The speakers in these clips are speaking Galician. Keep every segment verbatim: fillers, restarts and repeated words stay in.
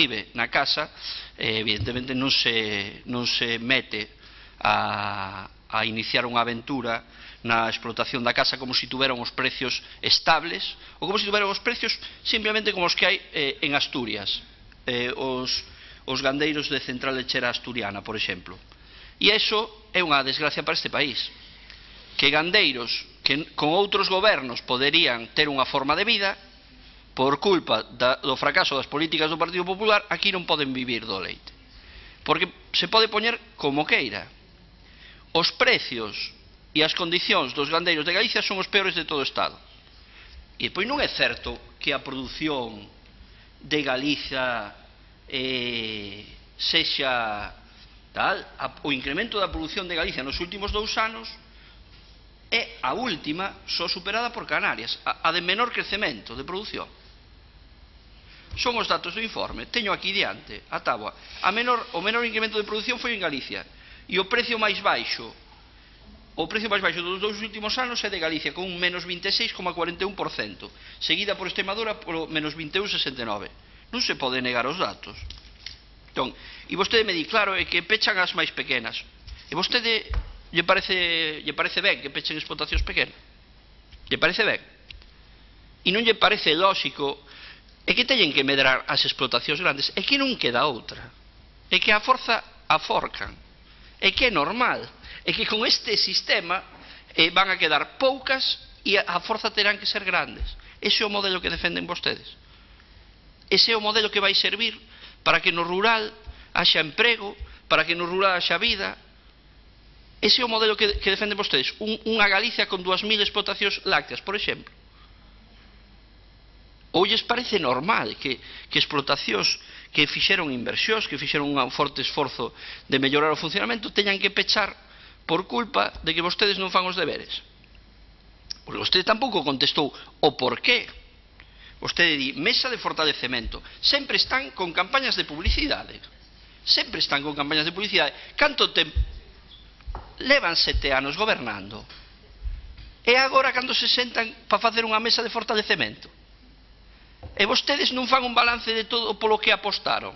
arribe na casa, eh, evidentemente non se, non se mete a, a iniciar unha aventura na explotación da casa como se tuveran os precios estables ou como se tuveran os precios simplemente como os que hai eh, en Asturias, eh, os, os gandeiros de Central Lechera Asturiana, por exemplo. E iso é unha desgracia para este país, que gandeiros que con outros gobernos poderían ter unha forma de vida, por culpa da, do fracaso das políticas do Partido Popular, aquí non poden vivir do leite, porque se pode poñer como queira. Os precios e as condicións dos gandeiros de Galicia son os peores de todo o Estado. E depois non é certo que a produción de Galicia eh, sexa tal, a, o incremento da produción de Galicia nos últimos dous anos é a última só superada por Canarias, a, a de menor crecemento de produción. Son os datos do informe, teño aquí diante a táboa. A menor, o menor incremento de produción foi en Galicia, e o precio máis baixo O precio máis baixo dos dous últimos anos é de Galicia, con un menos vinte e seis coma cuarenta e un por cento, seguida por Extremadura polo menos vinte e un coma sesenta e nove. Non se pode negar os datos. Entón, e vostede me di, claro, é que pechan as máis pequenas. E vostede lle parece, lle parece ben que pechen explotacións pequenas? Lle parece ben? E non lle parece lógico é que teñen que medrar as explotacións grandes? É que non queda outra. É que a forza aforcan. É que é normal. É que con este sistema eh, van a quedar poucas e a forza terán que ser grandes. Ese é o modelo que defenden vostedes. Ese é o modelo que vai servir para que no rural haxa emprego, para que no rural haxa vida. Ese é o modelo que, que defenden vostedes. Un, unha Galicia con dúas mil explotacións lácteas, por exemplo. Ou lles parece normal que, que explotacións que fixeron inversións, que fixeron un forte esforzo de mellorar o funcionamento, teñan que pechar por culpa de que vostedes non fan os deberes? Porque vostede tampouco contestou o porqué. Vostede di, mesa de fortalecemento. Sempre están con campañas de publicidade. Sempre están con campañas de publicidade. Canto tempo? Levan sete anos gobernando. E agora cando se sentan para facer unha mesa de fortalecemento? E vostedes non fan un balance de todo polo que apostaron?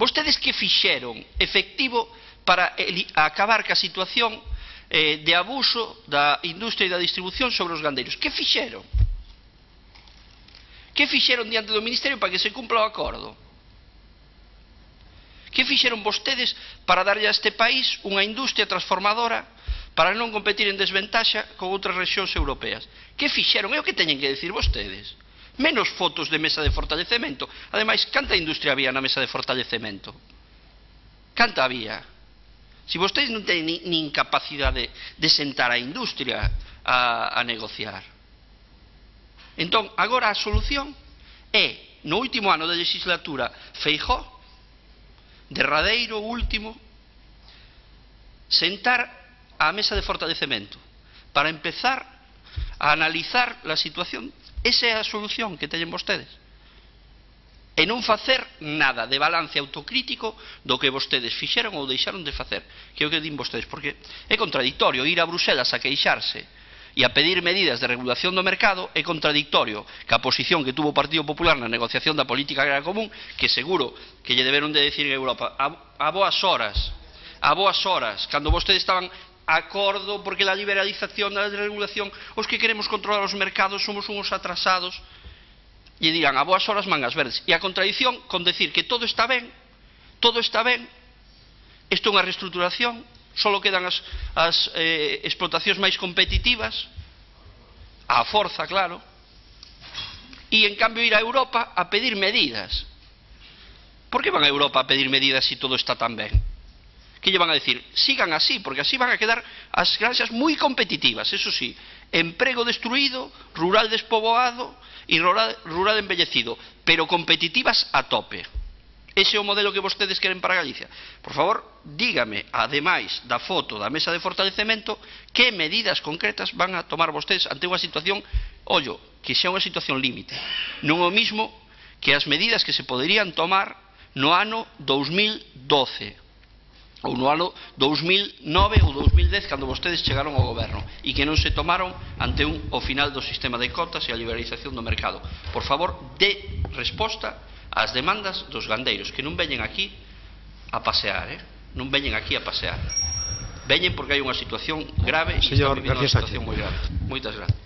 Vostedes que fixeron efectivo para acabar ca situación eh, de abuso da industria e da distribución sobre os gandeiros? Que fixeron? Que fixeron diante do Ministerio para que se cumpla o acordo? Que fixeron vostedes para darlle a este país unha industria transformadora para non competir en desventaxa con outras rexións europeas? Que fixeron? É o que teñen que decir vostedes. Menos fotos de mesa de fortalecemento. Ademais, canta industria había na mesa de fortalecemento? Canta había? Se vostedes non teñen ni, nin capacidade de sentar a industria a, a negociar. Entón, agora a solución é, no último ano da legislatura, Feijóo, derradeiro, último, sentar a mesa de fortalecemento para empezar a analizar a situación. Esa é a solución que teñen vostedes. E non facer nada de balance autocrítico do que vostedes fixeron ou deixaron de facer, que é o que din vostedes, porque é contradictorio ir a Bruselas a queixarse e a pedir medidas de regulación do mercado, é contradictorio que a posición que tuvo o Partido Popular na negociación da política agraria común, que seguro que lle deberon de decir en Europa a, a boas horas, a boas horas, cando vostedes estaban acordo porque la liberalización da regulación, os que queremos controlar os mercados somos uns atrasados. E dirán, a boas horas mangas verdes. E a contradición con decir que todo está ben, todo está ben, isto é unha reestruturación, só quedan as, as eh, explotacións máis competitivas, a forza, claro, e en cambio ir a Europa a pedir medidas. Por que van a Europa a pedir medidas se todo está tan ben? Que lle van a decir? Sigan así, porque así van a quedar as granxas moi competitivas, eso sí, emprego destruído, rural despoboado e rural, rural embellecido, pero competitivas a tope. Ese é o modelo que vostedes queren para Galicia. Por favor, dígame, ademais da foto da mesa de fortalecemento, que medidas concretas van a tomar vostedes ante unha situación, ollo, que xa é unha situación límite. Non o mismo que as medidas que se poderían tomar no ano dous mil doce, ou no ano dous mil nove ou dous mil dez, cando vostedes chegaron ao goberno, e que non se tomaron ante un, o final do sistema de cotas e a liberalización do mercado. Por favor, dé resposta as demandas dos gandeiros, que non veñen aquí a pasear, eh? non veñen aquí a pasear. Veñen porque hai unha situación grave e están vivindo unha situación moi grave. Moitas gracias.